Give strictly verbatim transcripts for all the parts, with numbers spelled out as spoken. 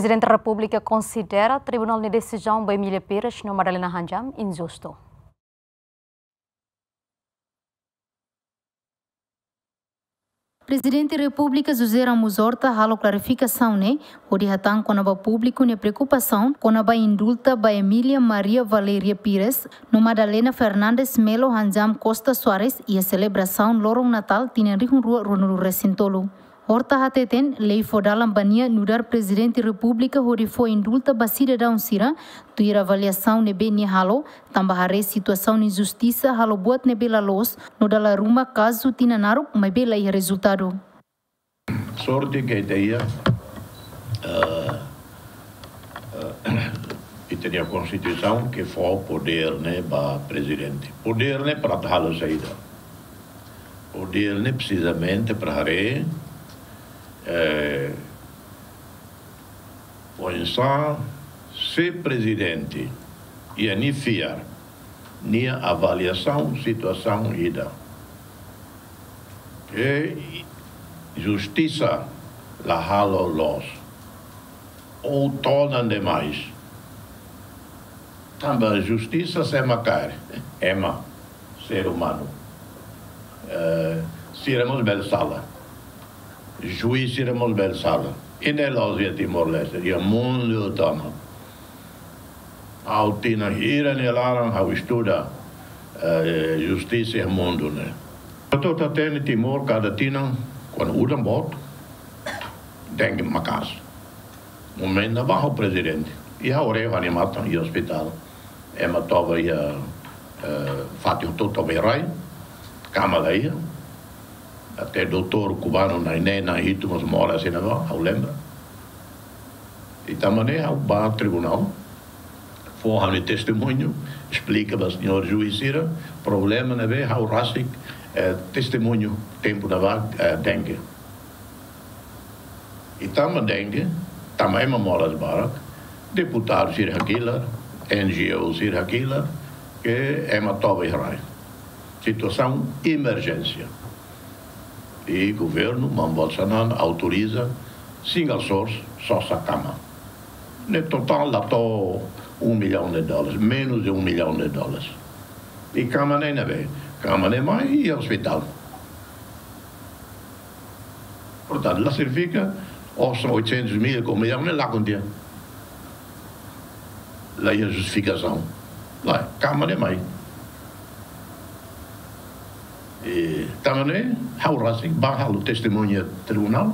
Prezidente Repúblika konsidera Tribunál nia desizaun ba Emília Pires no Madalena Handjam injustu. Prezidente Repúblika José Ramos Horta halo klarifikasaun ne'e hodi hatán kona-ba públiku nia preokupasaun kona-ba indulta ba Emília Maria Valéria Pires no Madalena Fernandes Melo Handjam Costa Soares iha selebrasaun loron Natál tinan rihun rua ruanulu resin tolu. Horta hateten lei fó dalan ba nia nu'udar Prezidente Repúblika hodi fó indulta ba sidadaun sira, tuir avaliasaun ne'ebé nia halo, tanba haree situasaun injustisa halo buat ne'ebé la loos no dala ruma kazu tinan naruk maibé la iha rezultadu. Sorte ke ita iha, eh, eh, ita-nia Konstituisaun ke fó podér ne'e ba Prezidente. Podér ne'e para atu halo saida? Podér ne'e precisamente para haree, eh, oinsá se Prezidente iha nia fiar, nia avaliasaun situasaun ida ke justisa la halo loos ou todan demais. Tanba justisa sé mak kaer? Ema, ser umanu. Eh, sira mós bele sala. Juís sira mós bele sala. I ne'e la'ós iha Timor-Leste, iha mundu tomak. Ha'u tinan hira nia laran ha'u estuda, eh, justisa iha mundu ne'e. Atu hatene Timor kada tinan, kuandu udan boot, dengue maka'as. Momentu ne'ebá ha'u Prezidente. I ha'u haree ha'u-nia matan iha ospitál. Ema toba iha, eh, fatin hotu toba iha rai. Kama la iha. Até doutór kubanu na'in-neen, na'in-hitu mós moras iha ne'ebá, ha'u lembra. I tanba ne'e ha'u bá tribunál, fó ha'u-nia testemuñu, esplika ba señór juís sira problema ne'ebé ha'u rasik, eh, testemuñu tempu ne'ebá, eh, dengue. I tanba dengue, tanba ema moras barak, deputadu sira hakilar, N G O sira hakilar, ke ema toba iha rai. Situasaun emerjénsia. I governu, maun Bolsonaro, autoriza single source, sosa kama. Ne'e totál la to'o um milhão de dólares, menos de um milhão de dólares. I kama ne'e ne'ebé? Kama ne'e mai iha ospitál. Portantu, la signifika osan oitocentos mil ka um milhão ne'e lakon tiha. La iha justifikasaun. Lae, kama ne'e mai. I tanba ne'e, ha'u rasik bá halo testemuña tribunál.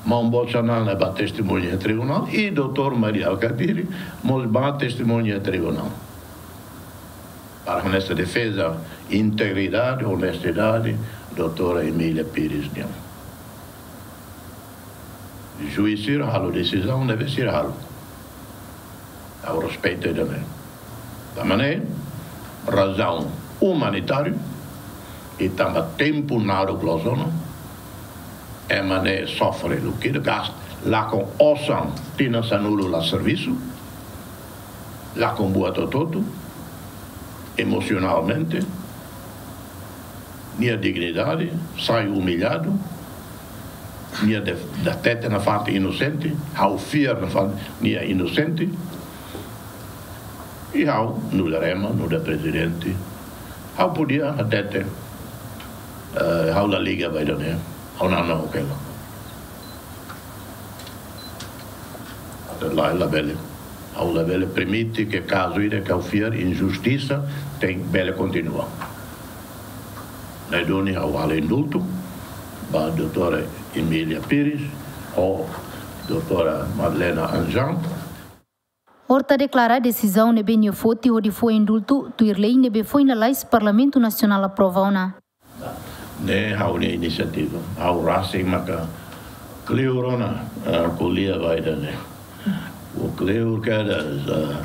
Maun Bolsonaro bá testemuña tribunál. I doutór Mari Alkatiri mós bá testemuña tribunál. Para honesta defeza, integridade, onestidade, doutora Emília Pires nian. Juís sira halo desizaun ne'ebé sira halo. Ha'u respeita ida-ne'e. Tanba ne'e, razaun umanitáriu, i tanba tempu naruk loos ona, ema ne'e sofre lukida, gasta, lakon osan tinan sanulu la servisu, lakon buat hotu-hotu, emosionalmente, nia dignidade, sai umilhadu, nia de-, hatete nafatin inosente, ha'u fiar nafatin nia inosente, i ha'u, nu'udar ema, nu'udar Prezidente, ha'u podia hatete, eh, ha'u la liga ba ida-ne'e, ha'u la na'ok hela. Atu la, labele. Ha'u labele permite ke kazu ida ke ha'u fiar injustisa tenke bele kontinua. Ne'e duni ha'u halo indultu ba doutora Emília Pires ho doutora Madalena Handjam. Horta deklara desizaun ne'ebé nia foti hodi fó indultu tuir lei ne'ebé foin lalais Parlamentu Nasionál aprova ona. Ne'e ha'u-nia inisiativa. Ha'u rasik maka kleur ona, eh, ko'alia ba ida-ne'e. Ha'u kleur kedas, eh,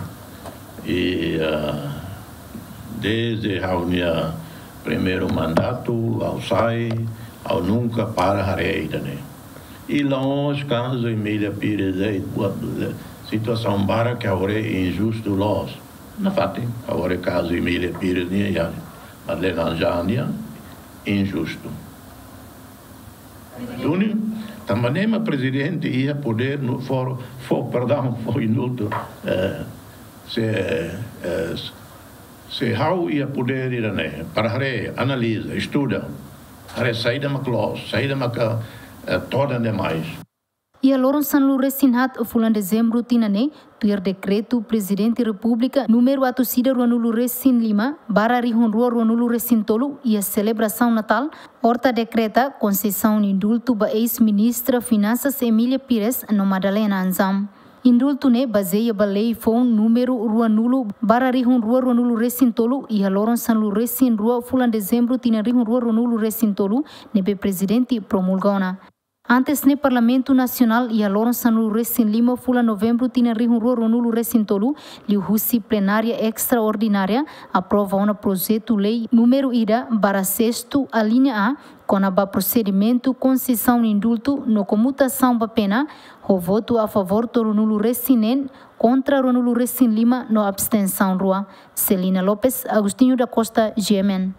i, eh, desde ha'u-nia primeiru mandatu, ha'u sai, ha'u nunka para haree ida-ne'e. I la'ós kazu Emília Pires de'it, buat le-, situasaun barak ke ha'u haree injustu loos. Nafatin, ha'u haree kazu Emília Pires nian, i Madalena Handjam nian, injustu. Duni, Tanba ne'e mak prezidente iha podér no fó, fó perdaun, fó indultu. Eh, se, eh, se ha'u iha podér ida-ne'e, para haree, analiza, estuda, haree saida mak loos, saida mak, eh, todan demais. Iha loron sanulu-resin-haat fulan dezembru tinan ne'e, tuir dekretu Prezidente Repúblika númeru atus ida ruanulu-resin-lima barra rihun rua ruanulu-resin-tolu iha selebrasaun Natál, Horta dekreta konsesaun indultu ba eis-ministra Finansas Emília Pires no Madalena Anzam. Indultu ne'e bazeia ba lei foun númeru ruanulu barra rihun rua ruanulu-resin-tolu iha loron sanulu-resin-rua fulan dezembru tinan rihun rua ruanulu-resin-tolu ne'ebé prezidente promulga ona. Antes ne'e Parlamentu Nasionál iha loron sanulu-resin-lima fulan novembru tinan rihun rua ruanulu-resin-tolu, liuhusi plenária estraordinária, aprova ona projetu lei númeru ida barra sestu alínea A, kona-ba prosedimentu konsesaun indultu no komutasaun ba pena, ho votu a favór tolunulu-resin-neen, kontra ruanulu-resin-lima no abstensaun rua. Celina Lopes, Agostinho da Costa, G M N.